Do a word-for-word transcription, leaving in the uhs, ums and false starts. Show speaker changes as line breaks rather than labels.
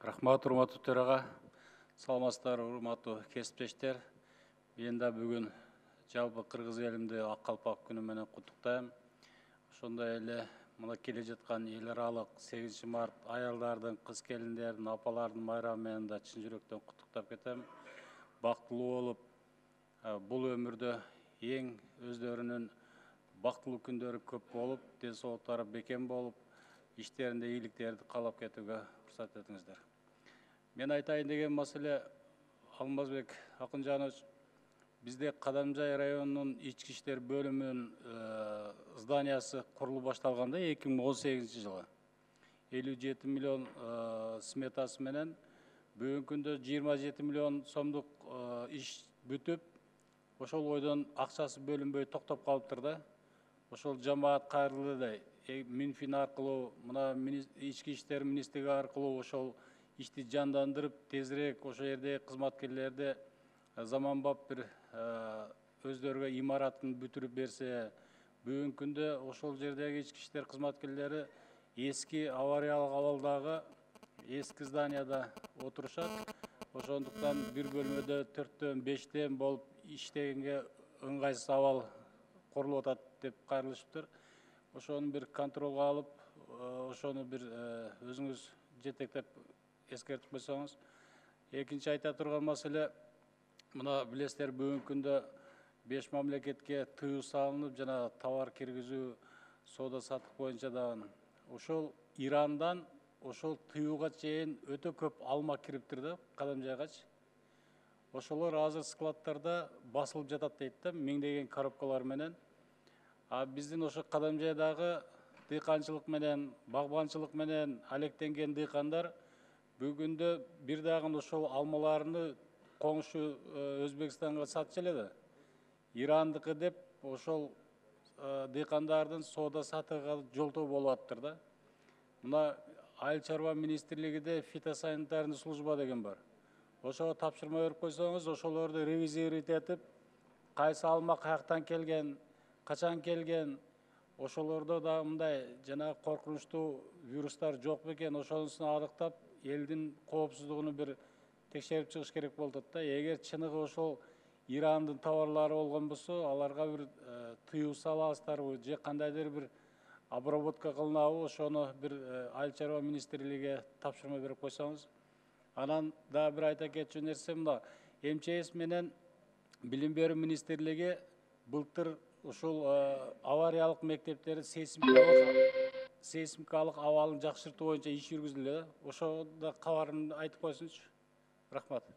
Рахмат, урматтуу төрага. Саламатсыздар, урматтуу кесиптештер. Мен да бүгүн жалпы кыргыз элимди Ак калпак күнү менен куттуктайм. Ошондой эле мына келе жаткан эл аралык сегизинчи март аялдардын, кыз келиндердин, апалардын майрамы менен да чын жүрөктөн куттуктап кетем. Бактылуу болуп, бул өмүрдө эң өздөрүнүн бактылуу күндөрү көп болуп, ден соолуктары бекем болуп, иштеринде ийгиликтерди каалап кетүүгө уруксат этиңиздер. Мен айтайын деген маселе, Алмазбек Акынжанович, бизде Кадамжай районунун ички иштер бөлүмүнүн зданиясы курулуп башталганда эки миң он сегизинчи жылы элүү жети миллион сметасы менен бүгүнкү күндө жыйырма жети миллион сомдук иш бүтүп, ошол ойдон акчасы бөлүнбөй токтоп калыптыр да. Ошол жамаат кайрылды эле Минфин аркылуу, мына ички иштер министрлиги аркылуу ошол ишти жандандырып, тезирээк ошол жердеги кызматкерлерди заманбап бир өздөрүгө имаратын бүтүрүп берсе, бүгүнкү күндө ошол жердеги ички иштер кызматкерлери эски авариялык абалдагы эски зданияда отурушат. Ошондуктан бир бөлмөдө төрттөн бештен болуп иштегенге ыңгайсыз абал курулуп атат деп кайрылышыптыр. Ошону бир контролго алып, ошону бир өзүңүз жетектеп эскертип койсоңуз. Экинчи айта турган маселе, мына билесиздер, бүгүнкү күндө беш мамлекетке тыюу салынып, жана товар киргизүү, соода саттык боюнча дагы ошол Ирандан ошол тыюуга чейин өтө көп алма кириптир да, Кадамжайгачы. Ошолор азыр складтарда басылып жатат дейт да, миңдеген коробкалар менен. А биздин ошо Кадамжайдагы дыйканчылык менен, багбанчылык менен алектенген дыйкандар бүгүндө бир дагы ошол алмаларını коңшу Өзбекстанга сатчу эле да. Ирандыкы деп ошол дыйкандардын соода саттыгы жолтоо болуп атыптыр да. Мына Айыл чарба министрлигиде фитосанитарный служба деген бар. Ошого тапшырма берип койсоңуз, ошолорду ревизировать этип, кайсы алма каяктан келген, качан келген, ошолордо да мындай жана коркунучтуу вирустар жок бекен, ошонусун аныктап, элдин коопсуздугуну бир текшерип чыгыш керек болуп атат да. Эгер чыныгы ошол Ирандын товарлары болгон болсо, аларга бир тыюу салабыздарбы же кандайдыр бир обработка кылынабы, ошону бир Айыл чарба министрлигине тапшырма берип койсоңуз. Анан дагы бир айта кетчү нерсе, мына эм че эс менен Билим берүү министрлиги былтыр ушул авариялык мектептерди сейсмикалык абалын жакшыртуу боюнча иш жүргүзүлдү. Ошондо кабарын айтып койсунчу. Рахмат.